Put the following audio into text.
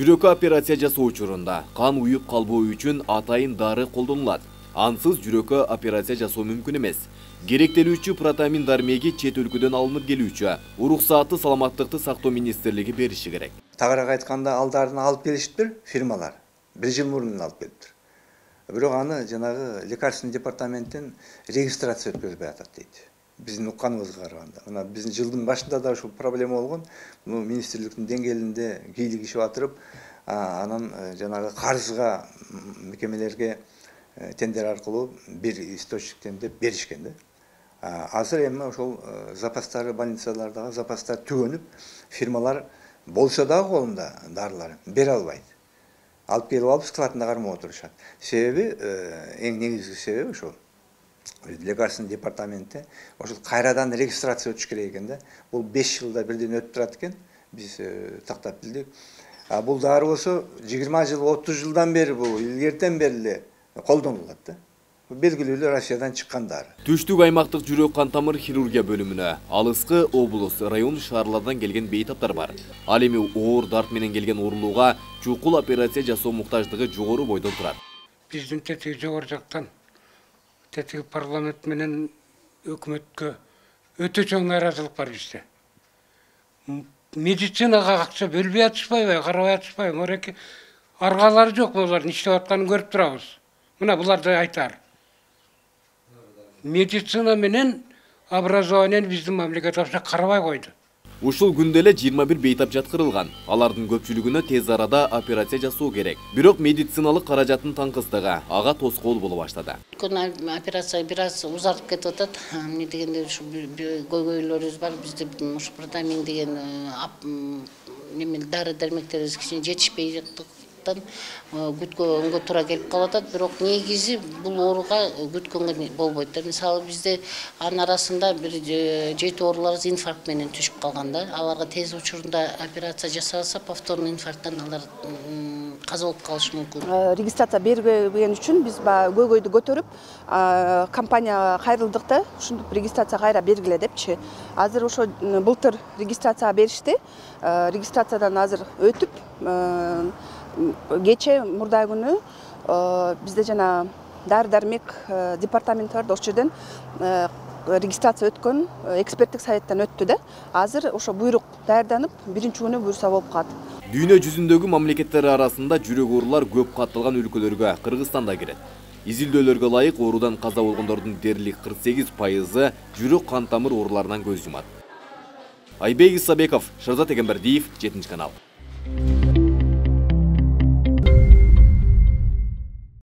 Жүрөккө операция жасоо учурунда кан уюп калбоо үчүн атайын дары колдонулат. Ансыз жүрөккө операция жасоо мүмкүн эмес. Керектелүүчү протамин дармеги чет өлкөдөн алынып келүүчү. Уруксаатты саламаттыкты сактоо министрлиги бериши керек. Тагыраак айтканда, ал дарыны алып келиштир фирмалар. 1 жыл мурун алып келиптир. Бирок аны жанагы лекарственный департаменттен регистрация өткөзбөй атат дейт. Биздин укканыбызга караганда. Мына биздин жылдын башында да ушул проблема болгон. Муну министрликтин деңгээлинде кийлигишип атырып, анан жанагы карызга мекемелерге тендер аркылуу бир источниктен деп беришкен да. Азыр эми ошол запастары больницалардагы запастар түгөнүп, фирмалар болсо дагы колунда дарылар бере албайт. Алып келип алып складына кармап отурушат. Себеби эң негизги себеби ошол. Лекарственный департаментте ошол кайрадан регистрация өтүш керек экен да. Бул 5 жылда бирден өтүп турат экен. Биз тактап билдик. Бул дары болсо 20 жыл, 30 жылдан бери бул илгертен бери эле колдонулат да. Белгилүү Россиядан чыккан дары. Түштүк аймактык жүрөк кан тамыр хирургия бөлүмүнө алыскы облус, район шаарлардан келген бейтаптар бар. Ал эми оор дарт менен келген оорулууга чукул операция жасоо муктаждыгы жогору бойдон турат. Биздин тетиги жогору жактан тетиги парламент менен өкмөткө өтө чоң нааразылык бар бизде. Медицинага акча бөлбөй атышпайбы, карабай атышпайбы? Мореки аргалары жок, булардын иштеп атканын көрүп турабыз. Мына буларды айтар. Медицина менен образованиені биздин мамлекет карабай койду. Ушул күндө эле 21 бейтап жаткырылган. Алардын көпчүлүгүнө тез арада операция жасоо керек. Бирок медициналык каражаттын таңкыстыгы ага тоскоол боло баштады. Операция бир аз узартып кетип атат. Эмне дегенде ушу көйгөйлөрүбүз бар. Бизде ушу протамин деген дары дармектерибиз кичине жетишпей жактыктан күткөнгө туура келип калып атат. Бирок негизи бул ооруга күткөнгө болбойт да. Мисалы бизде анын арасында бир 7 оорулар инфаркт менен түшүп калган да. Аларга тез учурунда операция жасалса, повторный инфаркттан алар каза болуп калышы мүмкүн. Регистрация бербеген үчүн биз көйгөйдү көтөрүп, компанияга кайрылдык да, ушинтип регистрация кайра бергиле депчи. Азыр ошо былтыр регистрацияга беришти. Регистрациядан азыр өтүп, кече мурда күнү бизде жана дары-дармек департаменти бар, ошол жерден регистрация өткөн, эксперттик советтен өттү да. Азыр ошо буйрук даярданып, биринчи күнү буйруса болуп калат. Дүйнө жүзүндөгү мамлекеттер арасында жүрөк оорулар көп катталган өлкөлөргө Кыргызстан да кирет. Изилдөөлөргө ылайык оорудан каза болгондордун дээрлик 48% жүрөк кан тамыр ооруларынан көз жумат. Айбек Исабеков, Шерзат Эгембердиев, 7 канал.